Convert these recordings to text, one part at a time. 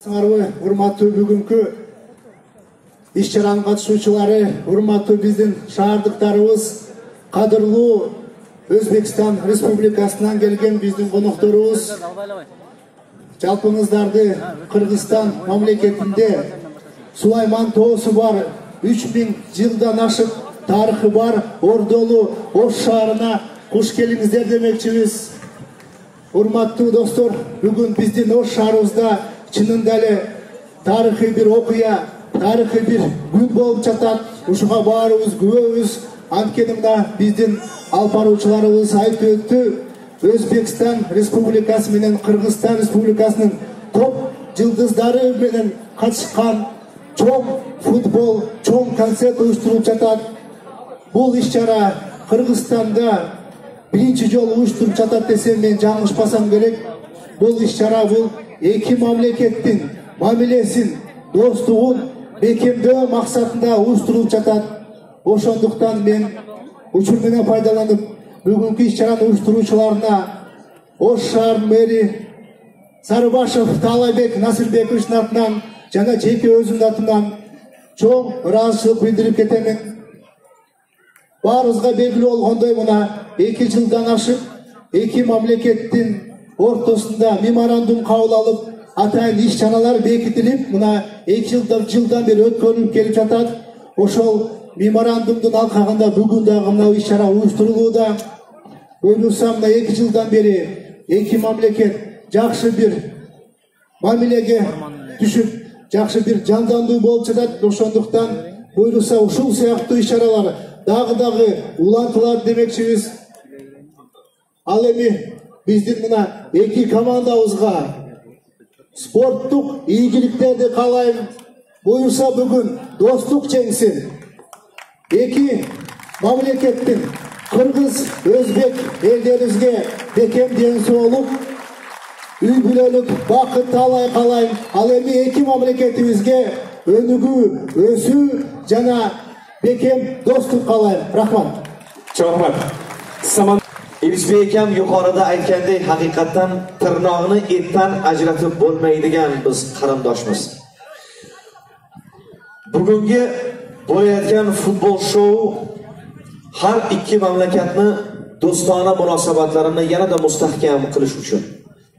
Урматтуу бүгүнкү иш-чаранын катышуучулары, урматтуу биздин шаардыктарыбыз, кадырлуу Өзбекстан Республикасынан келген биздин конокторубуз, жалпыңыздарды Кыргызстан мамлекетинде Сулайман тоосу бар, 3000 жылдан ашык тарыхы бар Ордолу Ош шаарына куш келиңиздер демекчибиз. Урматтуу достор, бүгүн биздин Ош шаарыбызда чынында эле тарыхый бир окуя, тарыхый бир күн болуп жатат. Ушуга баарыбыз күбөбүз. Анткени мына биздин алып баруучуларыбыз айтып өттү. Өзбекстан Республикасы менен Кыргызстан Республикасынын топ жылдыздары менен катышкан чоң футбол, чоң концерт уюштурулуп жатат. Бул иш-чара Кыргызстанда биринчи жолу уюштуруп жатат десем мен жаңылышпасам керек. Бул иш-чара бул эки мамлекеттин мамилесин, достугун бекемдөө максатында уюштурулуп жатат. Ошондуктан мен учур менен пайдаланып, бүгүнкү иш-чараны уюштуруучуларына Ош шаарынын мэри Сарыбашев Таалайбек Насырбековичтин атынан жана жеке өзүмдүн атымдан чоң ыраазычылык билдирип кетемин. Баарыбызга белгилүү болгондой, мына 2 жылдан ашык эки мамлекеттин ортосунда меморандум кабыл алып, атайын иш-чаралар бекитилип, мына 2 жылдан бери өткөрүлүп келип жатат. Ошол меморандумдун алкагында бүгүн дагы мына иш-чара уюштурулууда. Ойлосам, мына 2 жылдан бери эки мамлекет жакшы бир мамилеге түшүп, жакшы бир жандандуу болуп жатат. Ошондуктан буйруса ушул сыяктуу иш-чаралар дагы улантылат демекчибиз. Ал эми биздин мына эки командабызга спорттук ийгиликтерди каалайм. Буюрса бүгүн достук жеңсин. Эки мамлекеттин Кыргыз, Өзбек элдерибизге бекем ден соолук, үй бүлөлүк бакыт таалай каалайм. Ал эми эки мамлекетибизге өнүгүү, өсүү жана бекем достук каалайм. Рахмат. Чоң рахмат. Элизбек акам yuqorida aytgandek, haqiqatan tirnog'ini etdan ajratib bo'lmaydigan biz qarindoshmiz. Bugungi bo'layotgan futbol shou har ikki mamlakatni do'stona munosabatlarini yanada mustahkam qilish uchun.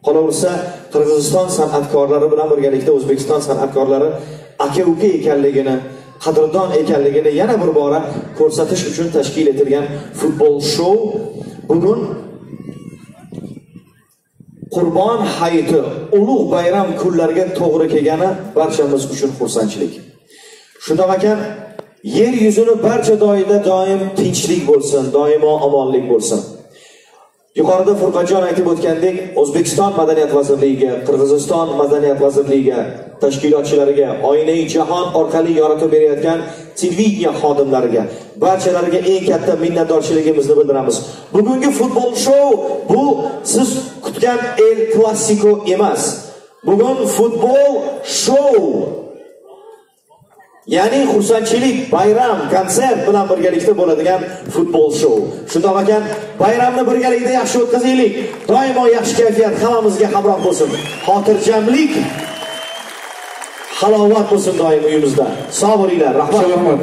Qolaversa, Qirg'iziston san'atkorlari bilan birgalikda O'zbekiston san'atkorlari aka-uka ekanligini, qadrdon ekanligini yana bir bora ko'rsatish uchun tashkil etilgan futbol shou bugun Qurbon hayiti, ulug' bayram kunlariga to'g'ri kelgani barchamiz uchun xursandchilik. Shundoq ekan, yer yuzini barcha joyida doim tinchlik bo'lsin, doimo omonlik bo'lsin. Yuqorida Furqatjon aytib o'tgandek, O'zbekiston Madaniyat vazirligiga, Qirg'iziston Madaniyat vazirligiga, tashkilotchilariga, Oyna-i jahon orqali yoritib berayotgan televideniya xodimlariga, barchalariga eng katta minnatdorchiligimizni bildiramiz. Bugungi futbol shou bu siz kutgan El Clasico emas. Bugun futbol shou. Ya'ni xursandchilik, bayram, konsert bilan birgalikda bo'ladigan futbol shou. Shundoq ekan, bayramni birgalikda yaxshi o'tkazaylik. Doimo yaxshi kayfiyat hammamizga hamroh bo'lsin. Xotirjamlik, halovat bo'lsin doim uyimizda. Sog' bo'linglar. Rahmat.